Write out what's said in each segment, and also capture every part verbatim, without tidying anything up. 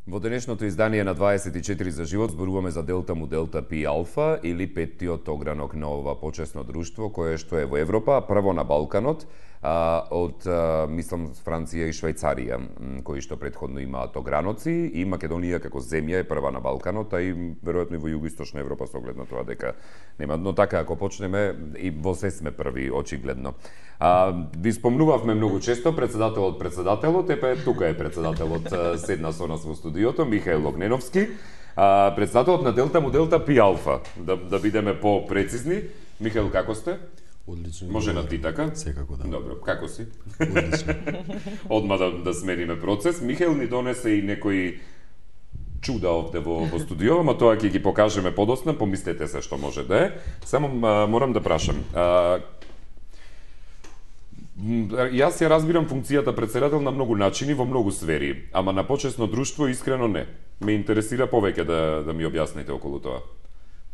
Во денешното издание на дваесет и четири за живот зборуваме за Делта му Делта Пи Алфа или петтиот огранок на ова почесно друштво кое што е во Европа, прво на Балканот, а, од, а, мислам, Франција и Швајцарија, кои што предходно имаат ограноци, и Македонија како земја е прва на Балканот, а и веројатно и во југоисточна Европа со оглед на тоа дека нема. Но така, ако почнеме, и во се сме први, очигледно. А, ви спомнувавме многу често, председателот председателот, епе тука е председателот, седна со нас во студиото, Михаил Огненовски, а, председателот на Делта му Делта Пи Алфа, да, да бидеме по-прецизни. Михаил, како сте? Одлично. Може на ти така? Секако да. Добро, како си? Одлично. Одма да, да смениме процес. Михаил ни донесе и некои чуда овде во, во студио, ама тоа ќе ги покажеме подосна, помислете се што може да е. Само а, морам да прашам. А, Јас ја разбирам функцијата председател на многу начини, во многу сфери, ама на почесно друштво искрено не. Ме интересира повеќе да, да ми објасните околу тоа.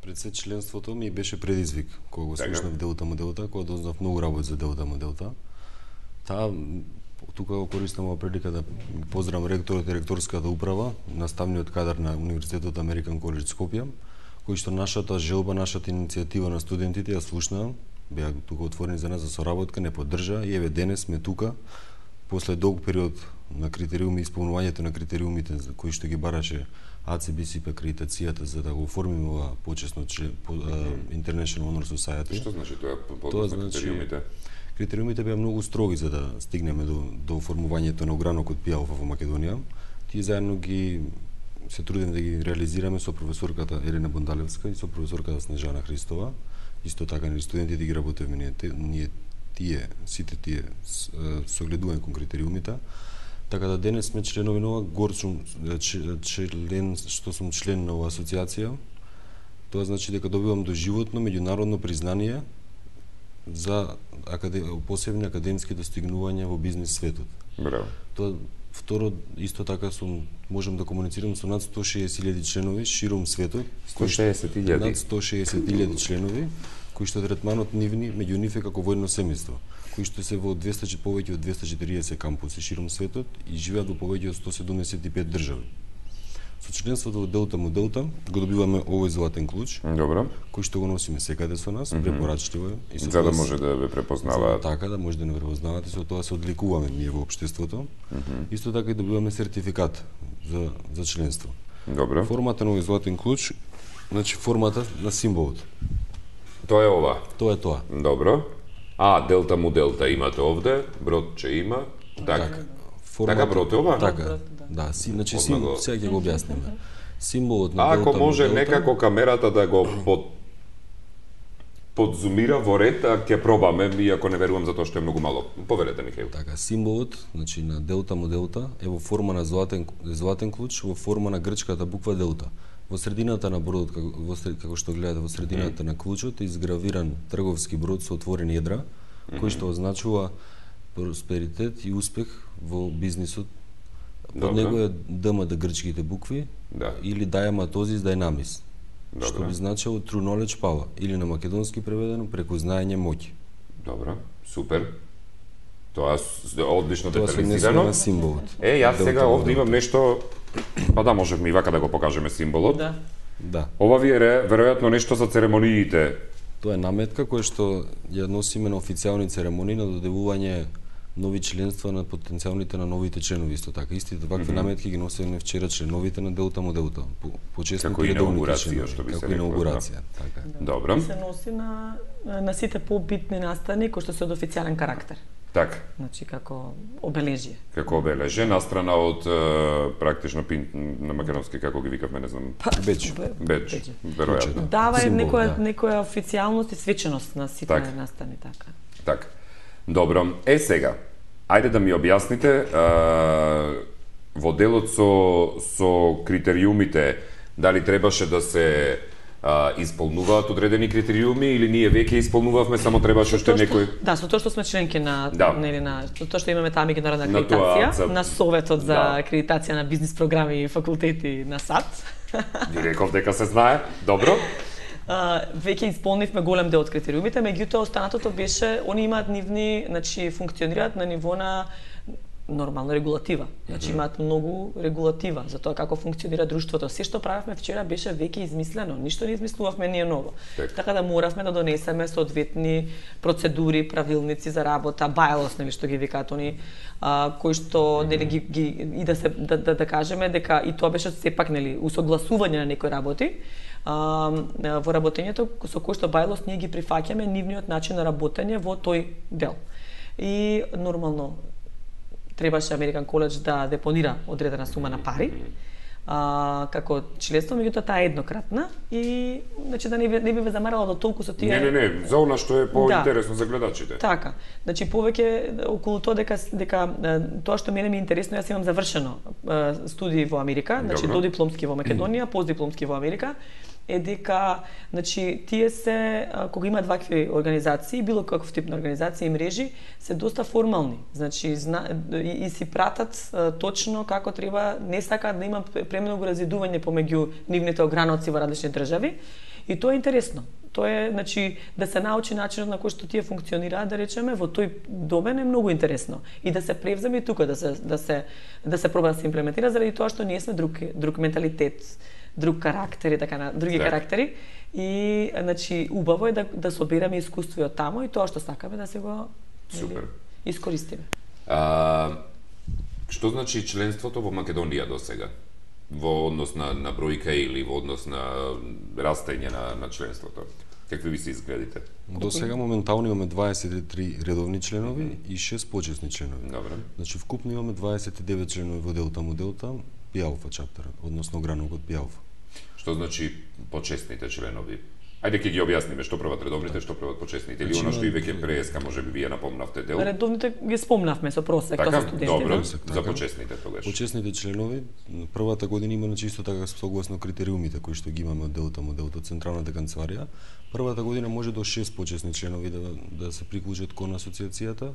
Пред се членството ми беше предизвик, кога го Така. слушнав Делта му Делта, кога дознав многу работи за Делта му Делта. Таа, тука го користам ова прилика да ги поздравам ректорот и ректорската управа, наставниот кадар на Универзитетот Американ Коледж Скопје, кои што нашата желба, нашата иницијатива на студентите ја слушнаа, беа тука отворени за нас за соработка, не поддржа и еве денес сме тука после долг период на критериуми, исполнувањето на критериумите за кои што ги бараше А Це Би Си Пи акредитацијата за да го оформиме ова почесно член, по, uh, International Honor Society. Што значи тоа по, Тоа по значи критериумите? Критериумите беа многу строги за да стигнеме до до оформувањето на огранокот Пи Алфа во Македонија. Тие заедно ги се трудиме да ги реализираме со професорката Елена Бондалевска и со професорката Снежана Христова. Исто така ни студентите ги работевме ние, ние тие, сите тие согледување кон критериумите. Така да денес сме членови на ова, горд сум член, што сум член на оваа асоциација. Тоа значи дека добивам доживотно меѓународно признание за акаде... посебни академски достигнувања во бизнис светот. Браво. Тоа второ, исто така сум, можам да комуницирам со над сто и шеесет илјади членови широм светот. сто и шеесет илјади? Над сто и шеесет илјади членови, кои што третманот нивни, меѓу нив е како воено семејство, кои што се во двесте повеќе од двесте и четириесет кампуси широм светот и живеат во повеќе од сто седумдесет и пет држави. Со членството во Делта му Делта го добиваме овој златен клуч, Добро. кој што го носиме секаде со нас, mm -hmm. препорачливо е. И За да тоа може да ве препознаваат. За да така да може да не препознавате, со тоа се одликуваме ние во општеството. Mm -hmm. Исто така и добиваме сертификат за за членство. Добро. Формата на овој златен клуч, значи формата на символот. Тоа е ова. Тоа е тоа. Добро. А, Делта му Делта имате овде, бродче има. Така. Формата, Така брод е ова? Така. Да, си, значи Одма сим, го- сега ќе го објасниме. Символот на А, Делта ако му може Делта, некако камерата да го под подзумира во ред, а ќе пробаме, иако не верувам затоа што е многу мало. Поверете, Михаил. Така, символот, значи на Делта му Делта е во форма на златен златен клуч, во форма на грчката буква Делта. Во средината на бродот, како, во сред, како што гледате, во средината mm. на клучот е изгравиран трговски брод со отворени едра, mm -hmm. кој што означува просперитет и успех во бизнисот. Под Добре. него е Д М Д грчките букви, Да. или Diamatozis Dynamis, Добре. што би значило True Knowledge Power, или на македонски преведено преку знаење моќ. Добро, супер. Тоа е одлично Тоа се однесува детализирано. на символот. Е, јас Делта сега му овде Делта. имам нешто, па да, можевме и вака да го покажеме символот. Да. Да. Ова ви е ре- веројатно нешто за церемониите. Тоа е наметка која што ја носиме на официјални церемонии на додевување нови членства на потенцијалните на новите членови исто така. Истите вакви mm -hmm. наметки ги носиме вчера членовите на Делта му Делта. По, почесни Како редовните инаугурација, членови, што би се како рекло, инаугурација, така. Добро. И се носи на, на сите побитни настани кои што се од официјален карактер. Така, Значи како обележие. како обележе, настрана од е, практично пин, на македонски, како ги викавме, не знам, Па, Бедж. бе- бедж, бедж. веројатно. Дава е Символ, некоја да. некоја официјалност и свеченост на сите Така. настани така. Така. Добро. Е сега, ајде да ми објасните а, во делот со со критериумите, дали требаше да се а, исполнуваат одредени критериуми или ние веќе исполнувавме, само требаше уште Тоа што- некој. Да, со тоа што сме членки на Да. нели на со тоа што имаме таа меѓународна На тоа акредитација, за- на советот за Да. акредитација на бизнис програми и факултети на САД. Ги реков дека се знае. Добро. А, веќе исполнивме голем дел од критериумите, меѓутоа останатото беше, они имаат нивни, значи функционираат на ниво на нормално регулатива. Значи имаат многу регулатива за тоа како функционира друштвото. Се што правевме вчера беше веќе измислено, ништо не измислувавме ние ново. Так. Така да моравме да донесеме соодветни процедури, правилници за работа, bylaws, нели што ги викаат они, а, кои што нели ги, ги и да се да, да, да кажеме дека и тоа беше сепак нели усогласување на некои работи. А, во работењето со кој што bylaws ние ги прифаќаме нивниот начин на работење во тој дел. И нормално требаше Американ Коледж да депонира одредена сума на пари а, како членство, меѓутоа таа е еднократна и значи да не би, не би ве замарала до толку со тие. Не, не, не, за она што е поинтересно да. За гледачите. Така. Значи повеќе околу тоа дека дека тоа што мене ми е интересно, јас имам завршено студии во Америка, значи Добро. додипломски во Македонија, постдипломски во Америка, е дека значи тие се кога имаат вакви организации, било каков тип на организации и мрежи, се доста формални. Значи зна, и, и си пратат а, точно како треба, не сакаат да има премногу разидување помеѓу нивните ограноци во различни држави. И тоа е интересно. Тоа е, значи, да се научи начинот на кој што тие функционираат, да речеме, во тој домен е многу интересно. И да се превземе и тука, да се да се да се проба да се имплементира заради тоа што ние сме друг друг менталитет, друг карактер и така на други так. карактери. И значи убаво е да да собереме искуство од таму и тоа што сакаме да се го Супер. Нели, искористиме. А, што значи членството во Македонија до сега? Во однос на, на бројка или во однос на растење на, на членството? Какви ви се изгледите? До сега моментално имаме дваесет и три редовни членови mm-hmm. и шест почесни членови. Добре. Значи вкупно имаме дваесет и девет членови во Делта му Делта, Пи Алфа чаптер, односно гранокот Пи Алфа. Што значи почесните членови? Ајде ќе ги објасниме што прават редовните, што прават почесните, или Значи, она што и веќе преска, можеби вие напомнавте дел. Редовните ги спомнавме со просек, Така, тоа се студенти. добро, Да? за така. почесните тогаш. Почесните членови, првата година има чисто така согласно критериумите кои што ги имаме од Делта му Делта, Централната канцеларија. Првата година може до шест почесни членови да да се приклучат кон асоциацијата,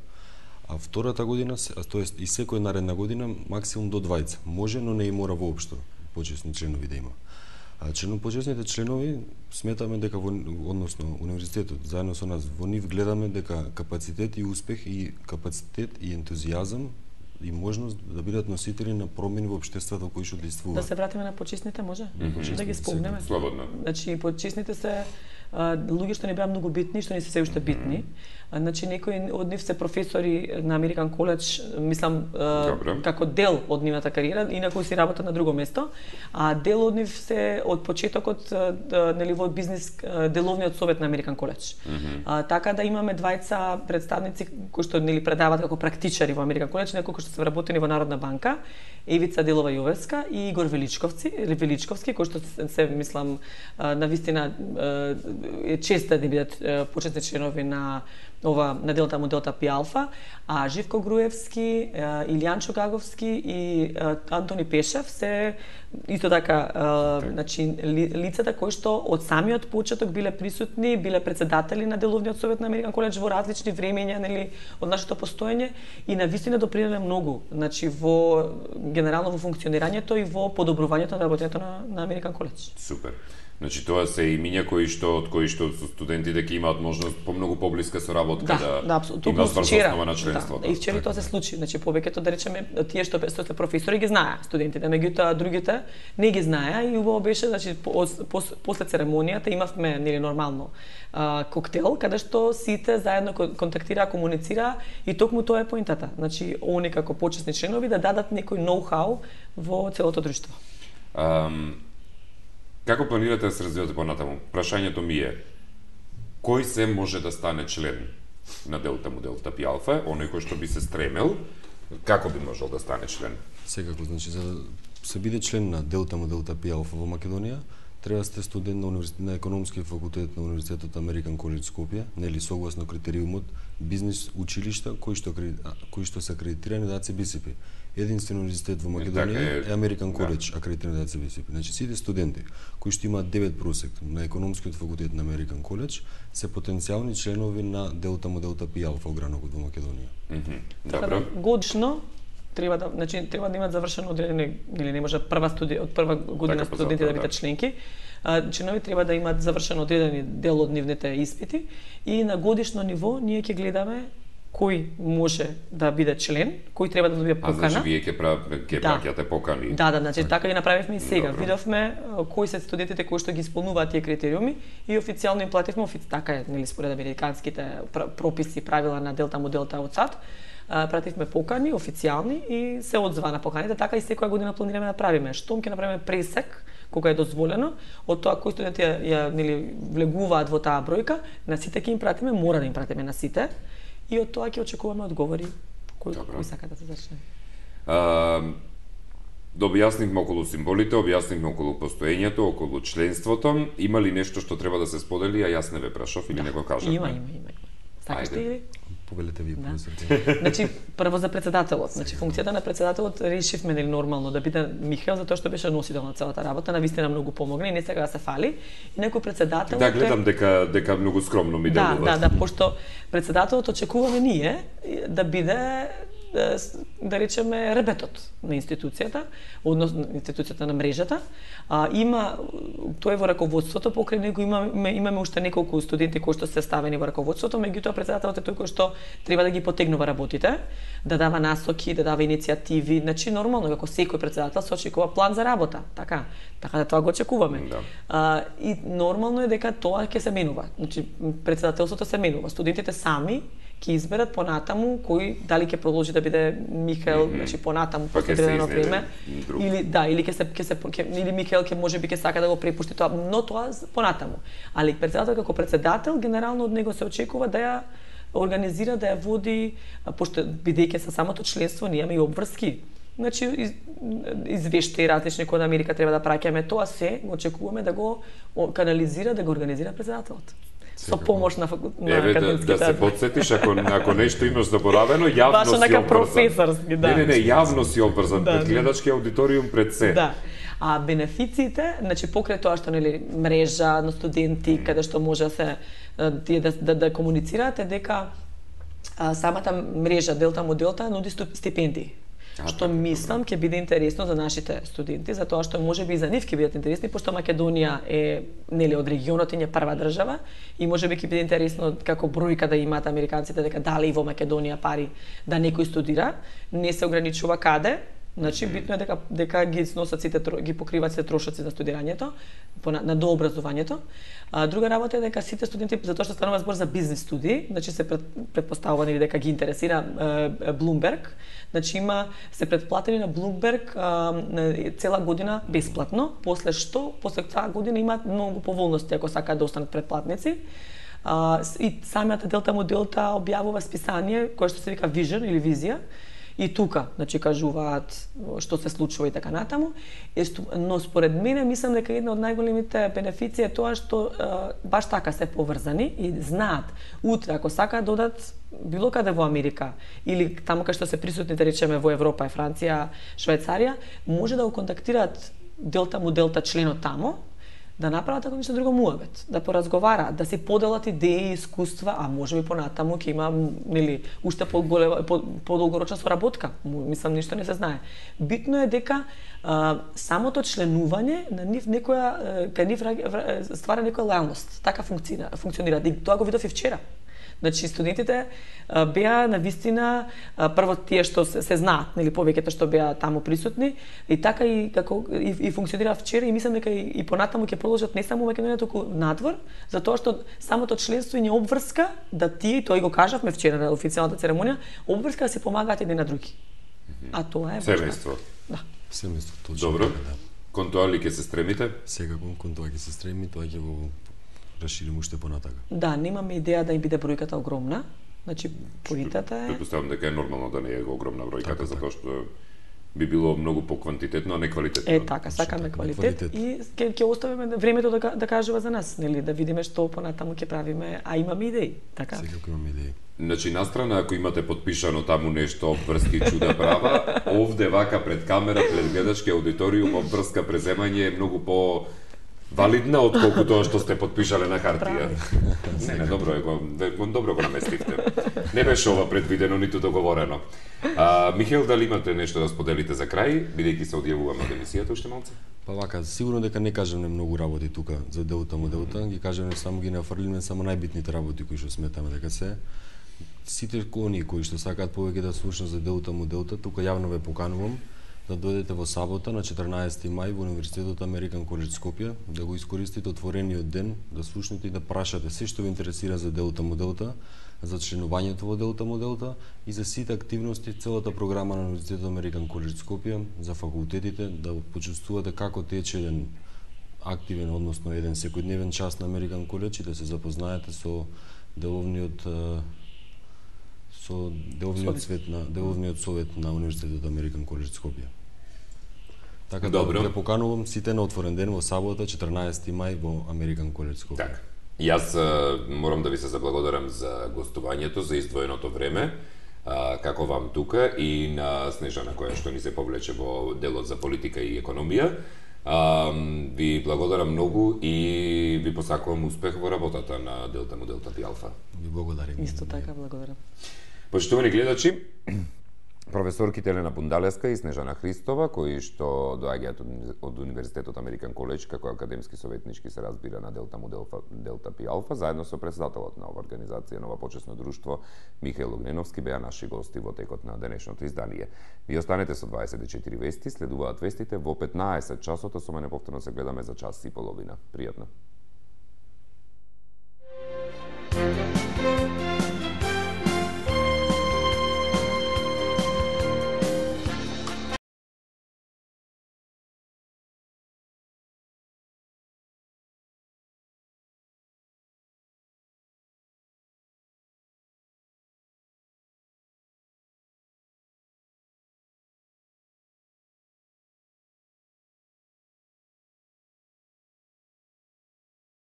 а втората година, тоест и секоја наредна година максимум до двајца. Може, но не и мора воопшто почесни членови да има. А член почесните членови сметаме дека во односно универзитетот заедно со нас во нив гледаме дека капацитет и успех и капацитет и ентузијазам и можност да бидат носители на промени во општеството кои што действуваат. Да се вратиме на почесните, може? Mm-hmm. Да ги спомнеме. Слободно. Значи почесните се а, луѓе што не беа многу битни, што не се се уште битни. А, значи некои од нив се професори на Американ Коледж, мислам а, како дел од нивната кариера, инаку си работат на друго место, а дел од нив се од почетокот а, нели во бизнис а, деловниот совет на Американ Коледж. Mm-hmm. А, така да имаме двајца представници кои што нели предаваат како практичари во Американ Коледж, некои што се вработени во Народна банка, Евица Делова Јовевска и Игор Величковци, Величковски, кои што се, се мислам на вистина е чест да бидат почетни членови на ова на Делта му Делта Пи Алфа, а Живко Груевски, Илијан Чугаговски и Антони Пешев се исто така, значи ли, лицата кои што од самиот почеток биле присутни, биле председатели на деловниот совет на Американ Коледж во различни времења, нели, од нашето постоење и на вистина допринеле многу, значи во генерално во функционирањето и во подобрувањето на работењето на, на Американ Коледж. Супер. Значи тоа се имиња кои што од кои што со студентите ќе имаат можност по многу поблиска соработка да, да, да апсолутно. има врз основа на членството. Да, и вчера тоа се случи. Значи повеќето да речеме тие што што се професори ги знаеа студентите, меѓутоа другите не ги знаеа и убаво беше, значи пос, пос, после церемонијата имавме нели нормално а, коктел каде што сите заедно контактираа, комуницираа и токму тоа е поинтата. Значи они како почесни членови да дадат некој ноу-хау во целото друштво. Um, Како планирате да се развивате понатаму? Прашањето ми е, кој се може да стане член на Делта му Делта Пи Алфа, оној кој што би се стремел, како би можел да стане член? Секако, значи, за да се биде член на Делта му Делта Пи Алфа во Македонија, треба да сте студент на, университет, на економскиот факултет на Универзитетот Американ Коледж Скопје, нели согласно критериумот бизнис училишта кои што кои што се акредитирани да АЦ Би Си Пи. Единствен универзитет во Македонија е Американ Коледж, акредитиран да АЦ Би Си Пи. Значи сите студенти кои што имаат девет просек на економскиот факултет на Американ Коледж се потенцијални членови на Делта му Делта Пи Алфа огранокот во Македонија. Mm-hmm. Добро. Годишно треба да, значи треба да имаат завршено одредени, или не може прва студија од прва година така, студенти да бидат да. членки. А, членови треба да имаат завршено одредени дел од нивните испити и на годишно ниво ние ќе гледаме кој може да биде член, кој треба да добие покана. А значи вие ќе правите ќе Да. праќате покани. Да, да, значи така ги направивме и сега. Добро. Видовме а, кои се студентите кои што ги исполнуваат тие критериуми и официјално им плативме, офи... така е, нели според американските пр прописи, правила на Делта му Делта од САД, а, пративме покани официјални и се одзва на поканите, така и секоја година планираме да правиме. Штом ќе направиме пресек кога е дозволено, од тоа кои студенти ја, ја нели влегуваат во таа бројка, на сите ќе им пратиме, мора да им пратиме на сите, и од тоа ќе очекуваме одговори кој, кој сака да се зачне. А, да објаснивме околу символите, објаснивме околу постоењето, околу членството. Има ли нешто што треба да се сподели, а јас не ве прашав или Да. не го кажав? Има, има, има. има. Сакаш ти или? Повелете ви, Да. професор. Значи, прво за председателот. Значи, функцијата на председателот решивме нели нормално да биде Михаел, затоа што беше носител на целата работа, навистина многу помогна и не сега да се фали. И некој председател Да, гледам дека дека многу скромно ми Да, делува. да, да, пошто председателот очекуваме ние да биде да, да речеме ребетот на институцијата, односно институцијата на мрежата. А, има тој е во раководството, покрај него имаме имаме уште неколку студенти кои што се ставени во раководството, меѓутоа председателот е тој кој што треба да ги потегнува работите, да дава насоки, да дава иницијативи, значи нормално како секој председател се очекува план за работа, така. Така да тоа го очекуваме. Да. А, и нормално е дека тоа ќе се менува. Значи председателството се менува. Студентите сами ќе изберат понатаму кој дали ќе продолжи да биде Михаел, mm -hmm. значи понатаму Па ќе се одредено изнеде време друг. или да, или ќе се ќе се ќе, или Михаел ќе можеби ќе сака да го препушти тоа, но тоа понатаму. Али председател како председател генерално од него се очекува да ја организира, да ја води, пошто бидејќи со самото членство ние имаме и обврски. Значи из, извештаи различни кои од Америка треба да праќаме, тоа се го очекуваме да го канализира, да го организира председателот. Со помош на, на Еве да, академските да се подсетиш ако ако нешто имаш заборавено, јавно Баш си онака обврзан. професорски, да. Не, не, не, јавно си обврзан Да, пред да. гледачки аудиториум пред се. Да. А бенефициите, значи покрај тоа што нели мрежа на студенти каде што може да се а, тие да, да, да комуницираат е дека а, самата мрежа Делта му Делта нуди сту- стипендии. А, Што така, мислам ќе биде интересно за нашите студенти, затоа што можеби и за нив ќе бидат интересни, пошто Македонија е нели од регионот и е прва држава и можеби ќе биде интересно како бројка да имаат американците дека дали и во Македонија пари да некој студира, не се ограничува каде. Значи битно е дека дека ги сносат сите тро- ги покриваат сите трошоци на студирањето, по- на, на дообразувањето. А друга работа е дека сите студенти, затоа што станува збор за бизнис студии, значи се пред, предпоставува нели дека ги интересира е, Bloomberg, значи има се предплатени на Bloomberg а, на цела година бесплатно, после што после таа година имаат многу поволности ако сакаат да останат предплатници. А, с- и самиот Делта му Делта објавува списание кое што се вика Vision или Визија. И тука, значи, кажуваат што се случува и така натаму. Но според мене, мислам дека една од најголемите бенефиции е тоа што е, баш така се поврзани и знаат утре, ако сакаат да одат било каде во Америка или таму кај што се присутни, да речеме, во Европа, Франција, Швајцарија, може да го контактираат Делта му Делта членот тамо, да направат ако ништо друго муабет, да поразговараат, да си поделат идеи, искуства, а можеби понатаму ќе има нели уште поголема по, подолгорочна соработка. Мислам ништо не се знае. Битно е дека а, самото членување на нив некоја кај нив ствара некоја лојалност. Така функционира, функционира. И тоа го видов и вчера. Значи студентите а, беа на вистина а, прво тие што се, се знаат, нели повеќето што беа таму присутни и така и како и, и функционира вчера и мислам дека и, и понатаму ќе продолжат не само во Македонија туку надвор, затоа што самото членство и не обврска да тие, тој го кажавме вчера на официјалната церемонија, обврска да се помагаат едни на други. А тоа е Семејство. Да. Семејство, точно. Добро. така, да. Кон тоа ли ќе се стремите? Секако кон тоа ќе се стреми, тоа ќе го расшириме уште понатака. Да, немаме идеја да им биде бројката огромна. Значи поитата е Предпоставам дека е нормално да не е огромна бројката, Така, затоа што би било многу поквантитетно, а не квалитетно. Е така, сакаме квалитет, квалитет. и ќе ќе оставиме времето да, ка- да кажува за нас, нели, да видиме што понатаму ќе правиме, а имаме идеи, така? Секако имаме идеи. Значи, настрана, ако имате подпишано таму нешто обврски чуда права, овде вака пред камера, пред гледачки аудиториум, обврска преземање е многу по валидна отколку тоа што сте подпишале на хартија. Не, не, добро е, го, го добро го наместивте. Не беше ова предвидено ниту договорено. А, Михаел, дали имате нешто да споделите за крај, бидејќи се одјавуваме од емисијата уште малце? Па вака, сигурно дека не кажеме многу работи тука за Делта му Делта, ги кажеме само ги нафрлиме само најбитните работи кои што сметаме дека се. сите оние кои што сакаат повеќе да слушнат за Делта му Делта, тука јавно ве поканувам да дојдете во сабота на четрнаесети мај во Универзитетот Американ Коледж Скопје, да го искористите отворениот ден, да слушнете и да прашате се што ви интересира за Делта му Делта, за членувањето во Делта му Делта и за сите активности, целата програма на Универзитетот Американ Коледж Скопје, за факултетите, да почувствувате како тече еден активен, односно еден секојдневен час на Американ Коледж и да се запознаете со деловниот со деловниот свет на деловниот совет на Универзитетот Американ Коледж Скопје. Така да ве поканувам сите на отворен ден во сабота четрнаесети мај во Американ Коледж Скопје. Така. Јас а, морам да ви се заблагодарам за гостувањето, за издвоеното време, а, како вам тука и на Снежана која што ни се повлече во делот за политика и економија. А, ви благодарам многу и ви посакувам успех во работата на Делта му Делта Пи Алфа. Ви благодарам. Исто така, благодарам. Почитувани гледачи, професорките Елена Бундалевска и Снежана Христова, кои што доаѓаат од Универзитетот Американ Коледж како академски советнички се разбира на Делта му Делта Пи Алфа, заедно со председателот на ова организација, Нова почесно друштво, Михаил Огненовски, беа наши гости во текот на денешното издание. Ви останете со дваесет и четири вести, следуваат вестите во петнаесет часот, со мене повторно се гледаме за час и половина. Пријатно.